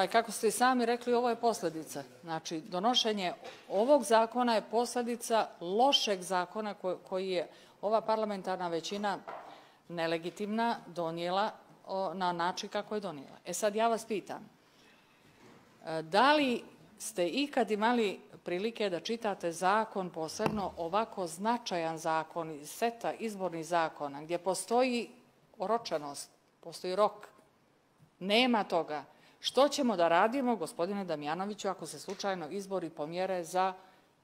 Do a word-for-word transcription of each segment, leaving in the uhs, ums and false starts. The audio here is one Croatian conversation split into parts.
ovaj, kako ste i sami rekli, ovo je posljedica. Znači, donošenje ovog zakona je posljedica lošeg zakona koji je ova parlamentarna većina nelegitimna donijela na način kako je donijela. E sad ja vas pitam, da li ste ikad imali prilike da čitate zakon, posebno ovako značajan zakon iz seta izbornih zakona, gdje postoji oročenost, postoji rok, nema toga. Što ćemo da radimo, gospodine Damjanoviću, ako se slučajno izbori pomjere za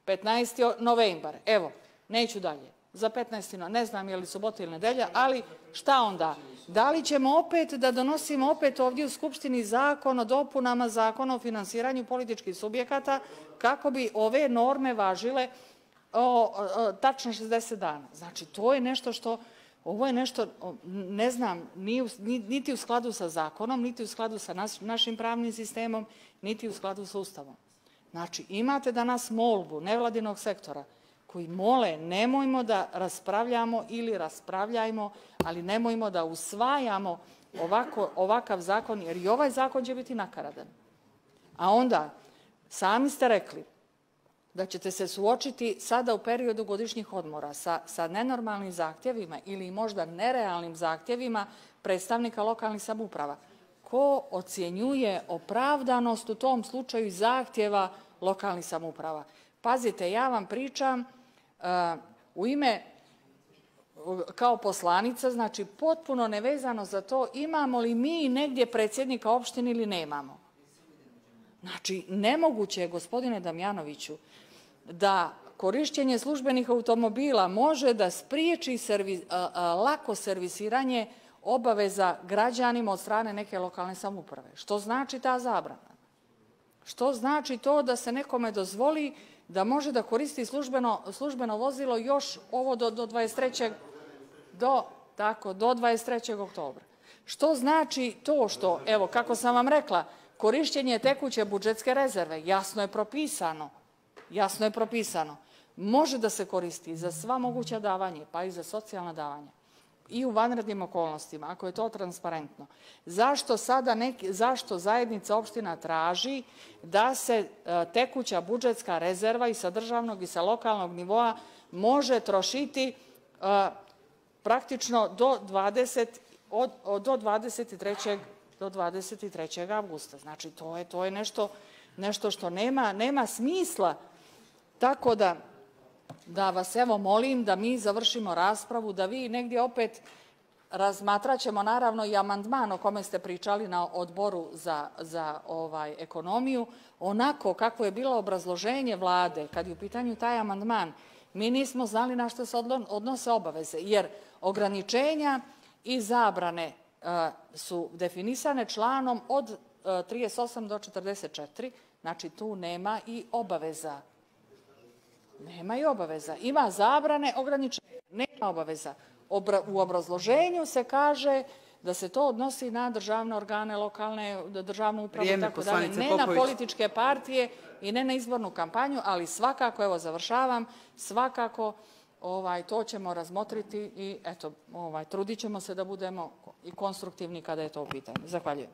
petnaesti novembar? Evo, neću dalje. Za petnaesti ne znam je li subota ili nedelja, ali šta onda? Da li ćemo opet da donosimo opet ovdje u Skupštini zakon o dopunama zakona o finansiranju političkih subjekata kako bi ove norme važile tačno šezdeset dana? Znači, to je nešto što, ovo je nešto, ne znam, niti u skladu sa zakonom, niti u skladu sa našim pravnim sistemom, niti u skladu sa Ustavom. Znači, imate danas molbu nevladinog sektora koji mole, nemojmo da raspravljamo ili raspravljajmo, ali nemojmo da usvajamo ovakav zakon, jer i ovaj zakon će biti nakaradan. A onda, sami ste rekli da ćete se suočiti sada u periodu godišnjih odmora sa nenormalnim zahtjevima ili možda nerealnim zahtjevima predstavnika lokalnih samouprava. Ko ocjenjuje opravdanost u tom slučaju zahtjeva lokalnih samouprava? Pazite, ja vam pričam u ime, kao poslanica, znači potpuno nevezano za to imamo li mi negdje predsjednika opštine ili nemamo. Znači, nemoguće je, gospodine Damjanoviću, da korišćenje službenih automobila može da spriječi lako servisiranje obaveza građanima od strane neke lokalne samouprave. Što znači ta zabrana? Što znači to da se nekome dozvoli da može da koristi službeno vozilo još ovo do dvadeset trećeg do dvadeset trećeg oktobra? Što znači to što, evo, kako sam vam rekla, korišćenje tekuće budžetske rezerve jasno je propisano, jasno je propisano, može da se koristi za sva moguća davanja, pa i za socijalna davanja i u vanrednim okolnostima, ako je to transparentno. Zašto sada neki, zašto zajednica opština traži da se tekuća budžetska rezerva i sa državnog i sa lokalnog nivoa može trošiti praktično do dvadeset trećeg avgusta? Znači, to je nešto što nema smisla. Tako da, da vas evo molim da mi završimo raspravu, da vi negdje opet razmatrat ćemo naravno i amandman o kome ste pričali na odboru za ekonomiju, onako kako je bilo obrazloženje vlade kad je u pitanju taj amandman. Mi nismo znali na što se odnose obaveze, jer ograničenja i zabrane su definisane članom od trideset osam do četrdeset četiri, znači tu nema i obaveza. Nema i obaveza. Ima zabrane, ograničenja, nema obaveza. U obrazloženju se kaže da se to odnosi na državne organe, lokalne, državnu upravu i tako dalje, ne na političke partije i ne na izbornu kampanju, ali svakako, evo završavam, svakako to ćemo razmotriti i eto, trudit ćemo se da budemo i konstruktivni kada je to u pitanju. Zahvaljujem.